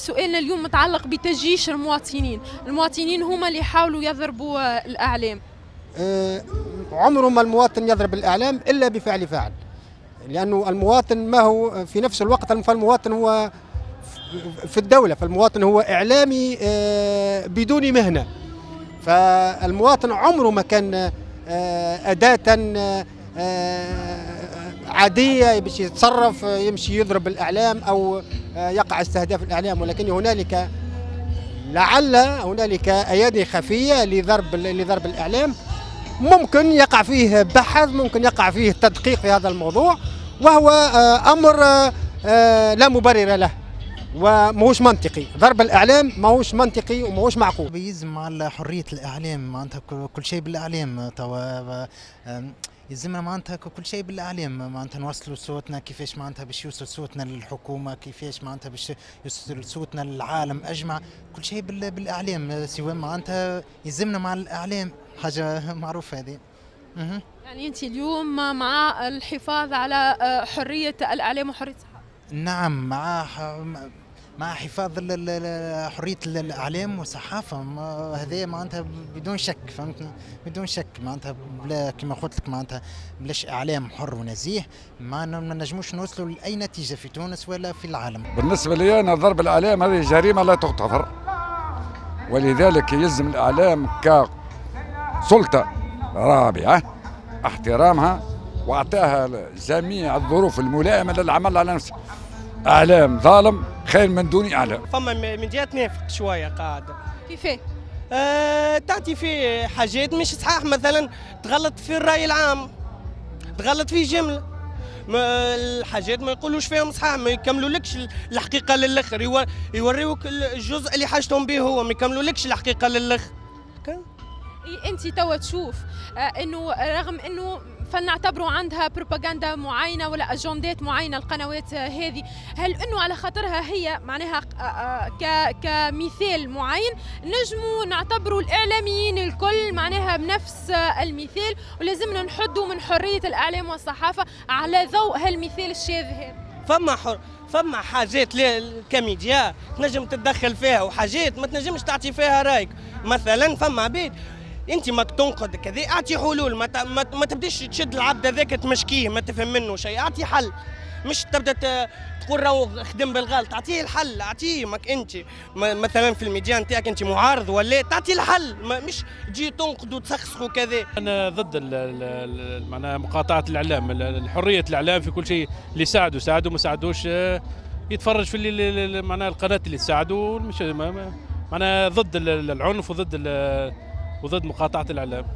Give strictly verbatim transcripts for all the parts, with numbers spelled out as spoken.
سؤالنا اليوم متعلق بتجيش المواطنين، المواطنين هما اللي يحاولوا يضربوا الاعلام. أه عمره ما المواطن يضرب الاعلام الا بفعل فاعل، لانه المواطن ما هو في نفس الوقت، فالمواطن هو في الدولة، فالمواطن هو اعلامي أه بدون مهنة. فالمواطن عمره ما كان أه اداه أه عادية باش يتصرف يمشي يضرب الاعلام او يقع استهداف الاعلام، ولكن هنالك لعل هنالك ايادي خفيه لضرب لضرب الاعلام. ممكن يقع فيه بحث، ممكن يقع فيه تدقيق في هذا الموضوع، وهو امر لا مبرر له وماهوش منطقي. ضرب الاعلام ماهوش منطقي وماهوش معقول. يلزم على حرية الاعلام، معناتها كل شيء بالاعلام توا، يلزمنا معناتها كل شيء بالاعلام، معناتها نوصلوا صوتنا كيفاش، معناتها باش يوصل صوتنا للحكومة كيفاش، معناتها باش يوصل صوتنا للعالم اجمع، كل شيء بالاعلام، سواء معناتها يلزمنا مع الاعلام حاجة معروفة هذه. يعني انت اليوم مع الحفاظ على حرية الاعلام وحريه الصحافة؟ نعم، مع مع حفاظ حرية الاعلام والصحافة، هذا معناتها بدون شك، فهمتني؟ بدون شك معناتها بلا كما قلت لك معناتها بلاش اعلام حر ونزيه ما نجموش نوصلوا لاي نتيجة في تونس ولا في العالم. بالنسبة لي انا ضرب الاعلام هذه جريمة لا تغتفر، ولذلك يلزم الاعلام كسلطه رابعه احترامها واعطاها جميع الظروف الملائمة للعمل على نفسه. اعلام ظالم خير من دون اعلام. فما من جهة تنافق شوية قاعدة. كيفاه؟ أه تعطي في حاجات مش صحاح، مثلا تغلط في الراي العام، تغلط في جملة، ما الحاجات ما يقولوش فيهم صحاح، ما يكملولكش الحقيقة للاخر، يوريوك الجزء اللي حاجتهم به هو، ما يكملولكش الحقيقة للاخر. انت توا تشوف انه رغم انه فلنعتبروا عندها بروباغندا معينة ولا اجندات معينة القنوات هذه، هل انه على خاطرها هي معناها كمثال معين نجموا نعتبروا الاعلاميين الكل معناها بنفس المثال، ولازمنا نحدوا من حرية الاعلام والصحافة على ضوء هالمثال الشاذ هذا؟ فما حر فما حاجات كميديا تنجم تتدخل فيها وحاجات ما تنجمش تعطي فيها رايك. مثلا فما عباد انت ما تنقد كذا، اعطي حلول، ما, ما, ما تبداش تشد العبد هذاك تمشكيه ما تفهم منه شيء، اعطي حل، مش تبدا تقول راهو خدم بالغلط، اعطيه الحل، اعطيه ماك انت مثلا في الميديا نتاعك انت معارض ولا تعطي الحل، ما مش تجي تنقد وتسخسخ وكذا. انا ضد معناها مقاطعه الاعلام، حرية الاعلام في كل شيء، اللي ساعدوا ساعدوا، ما ساعدوش يتفرج في اللي معناها القناة اللي تساعدوا، مش معناها ضد العنف وضد وضد مقاطعة الإعلام.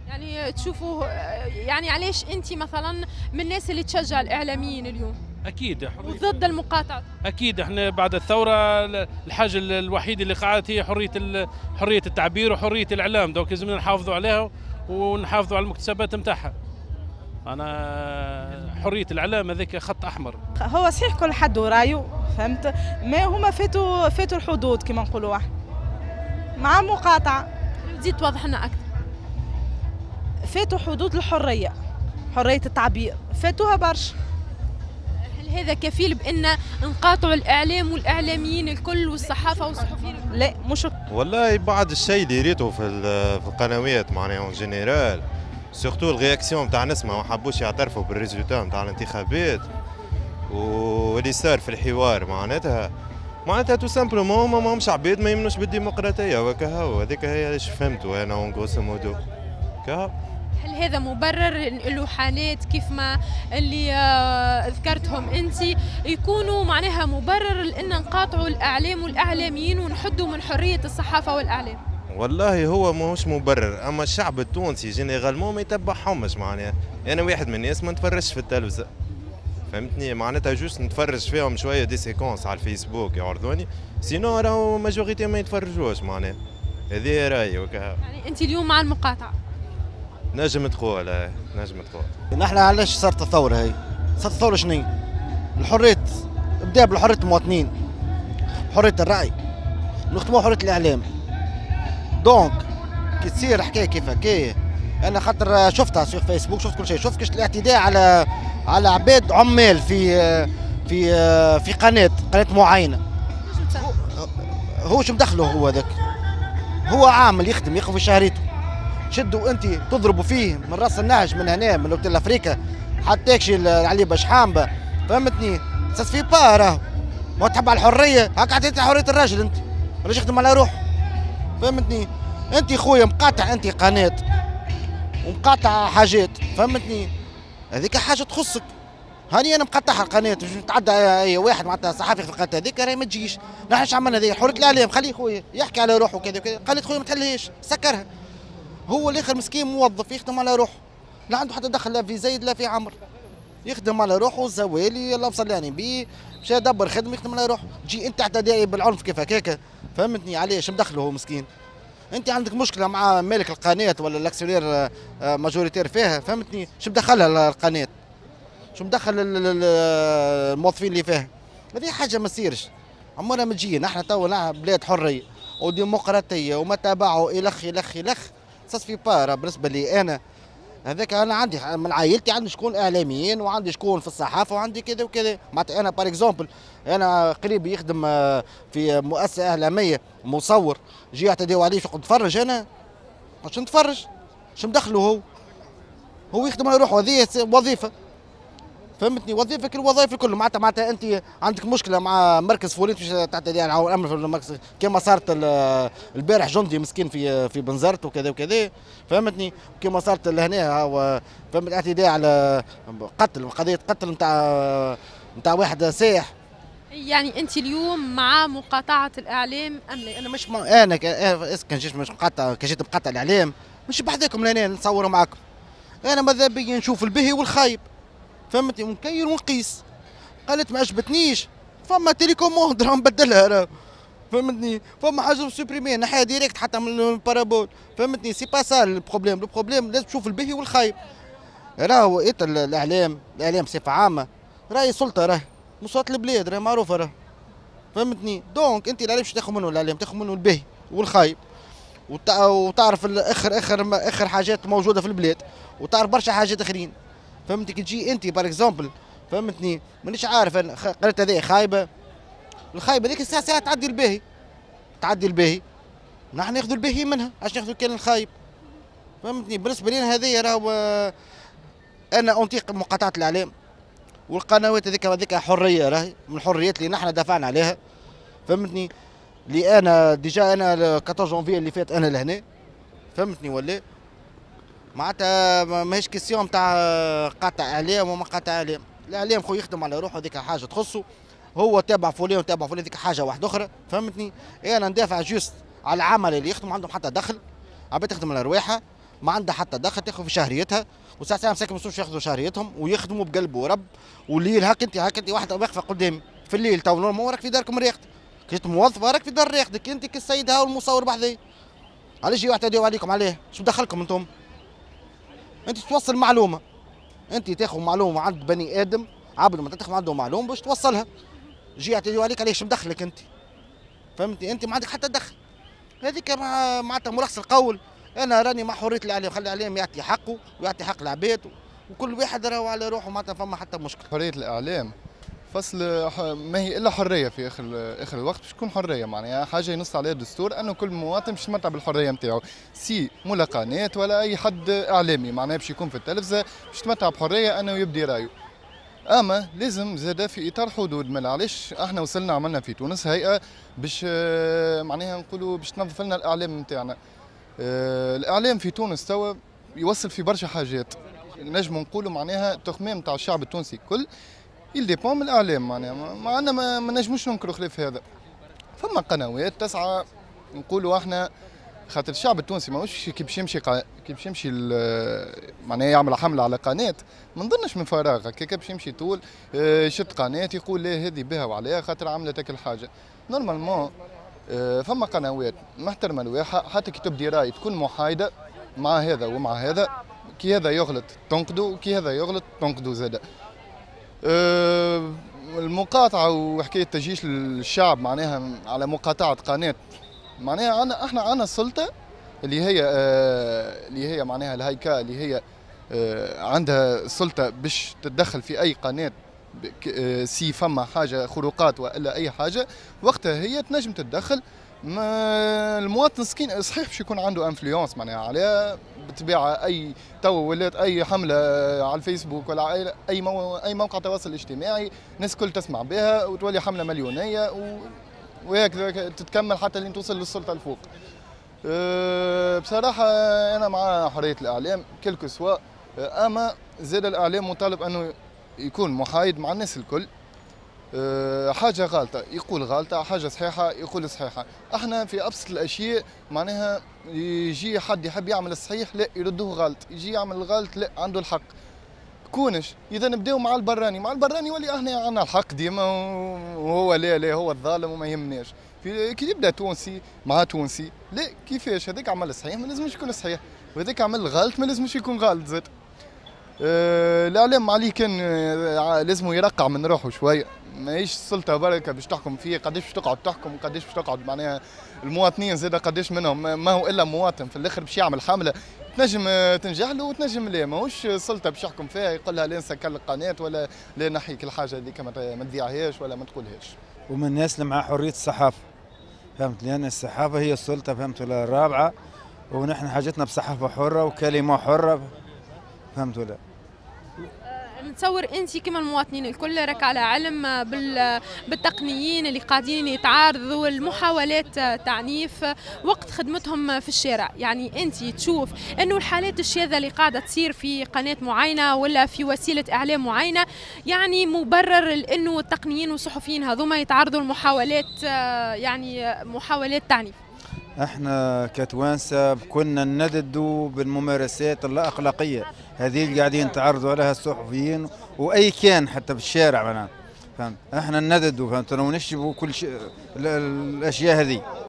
يعني تشوفوا يعني علاش أنت مثلا من الناس اللي تشجع الإعلاميين اليوم؟ أكيد وضد المقاطعة. أكيد احنا بعد الثورة الحاجة الوحيدة اللي قعدت هي حرية حرية التعبير وحرية الإعلام، donc لازمنا نحافظوا عليها ونحافظوا على المكتسبات نتاعها. أنا حرية الإعلام هذاك خط أحمر. هو صحيح كل حد ورايه، فهمت؟ ما هما فاتوا فاتوا الحدود كما نقولوا احنا. مع مقاطعة. تزيد توضح لنا أكثر. فاتوا حدود الحرية، حرية التعبير، فاتوها برشا. هل هذا كفيل بأن نقاطعوا الإعلام والإعلاميين الكل والصحافة والصحفيين؟ لا مش والله بعد الشيء اللي ريته في في القنوات معناها en général، surtout ال réaction تاع نسمة ما حبوش يعترفوا بال résultat نتاع الانتخابات واللي صار في الحوار، معناتها معناتها tout simplement ما ماهمش عباد ما يمنوش بالديمقراطية وكهو، هذيك هي علاش فهمتوا انا en grosso modo. هل هذا مبرر له حالات كيف ما اللي ذكرتهم انت يكونوا معناها مبرر لان نقاطعوا الاعلام والاعلاميين ونحدوا من حرية الصحافة والاعلام؟ والله هو ماهوش مبرر، اما الشعب التونسي généralement ما يتبعهمش، معناها انا واحد من الناس ما نتفرجش في التلفزة، فهمتني؟ معناتها juste نتفرج فيهم شوية des séquences على الفيسبوك يعرضوني، sinon راهو majorité ما يتفرجوش، معناها هذه رايي وكها. يعني انت اليوم مع المقاطعة؟ نجم تقول، نجم تقول. نحن علاش صارت الثورة هي؟ صارت الثورة شنو؟ الحرية، بدا بالحرية المواطنين، حرية الراي، نختموها حرية الاعلام. donc كي تصير حكاية كيف هكايا، انا خاطر شفتها sur فيسبوك، شفت كل شيء، شفت كيفاش الاعتداء على على عباد عمال في في في قناة قناة معينة. هو شو مدخله هو هذاك؟ هو عامل يخدم ياخذ في شهريته. شدوا انت تضربوا فيه من راس النهج من هنا من اوتيل افريكا حتى تاكشي عليه باش حامبه، فهمتني؟ ça se fait pas راهو. ما تحب على الحرية، هاك عطيت حرية الراجل انت، الراجل يخدم على روحه. فهمتني؟ انت خويا مقاطع انت قناة ومقاطع حاجات، فهمتني؟ هذيك حاجة تخصك. هاني انا مقطعها القناة باش نتعدى اي واحد معناتها صحفي في القناة هذيك راهي ما تجيش. نحن اش عملنا هذه؟ حرية الاعلام، خليه خويا يحكي على روحه وكذا وكذا، قناة خويا ما تحلهاش، سكرها. هو الاخر مسكين موظف يخدم على روحه، لا عنده حتى دخل لا في زيد لا في عمر، يخدم على روحه زوالي الله صلى على النبي، مشى دبر خدمة يخدم على روحه. تجي انت تعتدي بالعنف كيف هكاك، فهمتني؟ علاش مدخله هو مسكين؟ انت عندك مشكلة مع مالك القناة ولا l'actionnaire majoritaire فيها، فهمتني؟ شو مدخلها القناة؟ شو مدخل الموظفين اللي فيها؟ هذه حاجة ما تصيرش، عمرها ما تجي. نحن تو بلاد حرية وديمقراطيه وما تابعوا الخ الخ الخ، ça se fait pas. بالنسبة لي انا هذاك انا عندي من عائلتي عندي شكون اعلاميين وعندي شكون في الصحافة وعندي كذا وكذا. معناتها انا par exemple انا قريبي يخدم في مؤسسة اعلامية مصور، جي يعتديو عليه شو نتفرج انا؟ باش نتفرج؟ شو مدخله هو؟ هو يخدم على روحه، هذه وظيفة، فهمتني؟ وظيفة كالوظائف الكل. معناتها معناتها انت عندك مشكلة مع مركز فوليت باش تعتدي على الامن في المركز كما صارت البارح جندي مسكين في في بنزرت وكذا وكذا، فهمتني؟ كما صارت لهنا فهمت اعتداء على قتل، قضية قتل نتاع نتاع واحد سائح. يعني انت اليوم مع مقاطعه الاعلام ام لا؟ انا مش مع... انا كان جيت مش مقاطع، كان جيت مقاطع الاعلام مش بحذاكم لهنا نصور معاكم. انا ماذا بيا نشوف البهي والخايب، فهمتني؟ ونكير ونقيس. قالت ما عجبتنيش، فما télécommande راه نبدلها راه، فهمتني؟ فما حاجة supprimer نحيها direct حتى من ال parabole، فهمتني؟ c'est pas ça ال problème، ال problème لازم تشوف البهي والخايب. راهو إيه الاعلام، الاعلام بصفة عامة راهي سلطة، راه مصوت البلاد، راه معروفة راه، فهمتني؟ donc انت الاعلام باش تاخذ منه الاعلام تاخذ منه البهي والخايب، وتعرف اخر اخر اخر حاجات موجودة في البلاد، وتعرف برشا حاجات اخرين، فهمتني؟ كي تجي انت par exemple، فهمتني؟ مانيش عارف انا قريت هذه خايبة، الخايبة هذيك الساعة ساعة تعدي الباهي، تعدي الباهي، نحن ناخذ الباهي منها، علاش ناخذ كان الخايب؟ فهمتني؟ بالنسبة لي هذه راهو انا انطيق مقاطعه الاعلام والقنوات هذيك، هذيك حرية راهي من الحريات اللي نحن دافعنا عليها، فهمتني؟ اللي انا déjà انا أربعطاش جانفي اللي فات انا لهنا، فهمتني ولا؟ معناتها ماهيش question تاع قاطع اعلام وما قاطع اعلام، الاعلام خو يخدم على روحه، هذيك حاجة تخصه هو، تابع فلان وتابع فلان، هذيك حاجة واحدة اخرى، فهمتني؟ انا ندافع juste على العمل اللي يخدم عندهم حتى دخل، عباد تخدم على رواحها ما عندها حتى دخل، تاخذ في شهريتها، وساعة ساعة مساكن ما ياخذوا شهريتهم ويخدموا بقلب ورب. والليل هاك انت هاك انت واحدة واقفة قدامي في الليل تو normal راك في داركم ريحتك، كنت موظفة راك في دار ريحتك انت كالسيد ها والمصور بحذايا، علاش يجيو يعتديو عليكم؟ عليه شو دخلكم انتم؟ انت توصل معلومة، انت تاخذ معلومة عند بني ادم عبد ما تاخذ عنده معلومة باش توصلها، جي يعتديو عليك علاش مدخلك انت؟ فهمتني؟ انت ما عندك حتى دخل. هذيك معناتها ملخص القول انا راني مع حرية الاعلام، خلي الاعلام يعطي حقه ويعطي حق العباد، وكل واحد راهو على روحه، معناتها فما حتى مشكلة. حرية الاعلام فصل ما هي الا حرية في اخر اخر الوقت باش تكون حرية، معناها حاجة ينص عليها الدستور انه كل مواطن باش يتمتع بالحرية نتاعو، سي مولا قناة ولا اي حد اعلامي معناها باش يكون في التلفزة باش يتمتع بحرية انه يبدي رايه. اما لازم زاد في اطار حدود، ما علاش احنا وصلنا عملنا في تونس هيئة باش معناها نقولوا باش تنظف لنا الاعلام نتاعنا. الاعلام في تونس توا يوصل في برشا حاجات، نجم نقولوا معناها التخمام تاع الشعب التونسي الكل il dépend من الاعلام، معناها ما عندنا ما, ما نجموش ننكروا خلاف هذا. فما قنوات تسعى نقولوا احنا خاطر الشعب التونسي ماهوش كي باش يمشي قا... كي باش يمشي معناها يعمل حمله على قناة، ما نظنش من فراغ هكاك باش يمشي طول يشد قناة يقول لا هذه بها وعليها خاطر عملت هاك الحاجة. normalement فما قنوات محترمه الواحه، حتى كي تبدي راي تكون محايدة مع هذا ومع هذا، كي هذا يغلط تنقدو وكي هذا يغلط تنقدو زاده. المقاطعة وحكاية تجيش الشعب معناها على مقاطعه قناة، معناها عنا احنا عنا السلطة اللي هي اللي هي معناها الهيكا اللي هي عندها السلطة باش تتدخل في اي قناة si فما حاجة خروقات والا اي حاجة، وقتها هي تنجم تتدخل ما المواطن مسكين صحيح باش يكون عنده influence معناها عليها بالطبيعة. اي تو ولات اي حمله على الفيسبوك ولا اي اي, مو أي موقع تواصل اجتماعي الناس الكل تسمع بها وتولي حمله مليونيه و... وهكذا تتكمل حتى لين توصل للسلطة الفوق. أه بصراحة انا مع حرية الاعلام quel que soit، اما زاد الاعلام مطالب انه يكون محايد مع الناس الكل. أه حاجة غالطه يقول غالطه، حاجة صحيحه يقول صحيحه. احنا في ابسط الاشياء معناها يجي حد يحب يعمل الصحيح لا يردوه غلط، يجي يعمل الغلط لا عنده الحق. كونش اذا نبداو مع البراني، مع البراني يولي احنا عندنا الحق ديما وهو لا لا هو الظالم وما يهمناش. في كي يبدا تونسي مع تونسي لا كيفاش هذاك عمل صحيح ما لازمش يكون صحيح، وهذاك عمل غلط ما لازمش يكون غلط زاد. أه الاعلام عليه كان لازم يرقع من روحه شوية، ماهيش السلطة بركة باش تحكم فيه، قداش باش تقعد تحكم وقداش باش تقعد معناها المواطنين زاد قداش منهم ما هو الا مواطن في الاخر باش يعمل حمله تنجم تنجح له وتنجم لا، ماهوش سلطة باش يحكم فيها يقول لها لا نسكر القناة ولا لا نحيك الحاجة هذيك ما تذيعهاش ولا ما تقولهاش. ومن الناس اللي مع حرية الصحافة، فهمت، لان الصحافة هي السلطة، فهمت ولا، الرابعة، ونحن حاجتنا بصحافه حره وكلمه حره، فهمت ولا. نتصور انت كما المواطنين الكل راك على علم بالتقنيين اللي قاعدين يتعارضوا المحاولات تعنيف وقت خدمتهم في الشارع، يعني انت تشوف انه الحالات الشاذة اللي قاعدة تصير في قناة معينة ولا في وسيلة اعلام معينة يعني مبرر لانه التقنيين والصحفيين هذوما يتعرضوا لمحاولات يعني محاولات تعنيف؟ احنا كتوانسه كنا نددوا بالممارسات اللا اخلاقية هذه اللي قاعدين تعرضوا عليها الصحفيين واي كان حتى في الشارع معناها، فهمت، احنا نددوا، فهمت، ونشبوا كل شيء الاشياء هذه.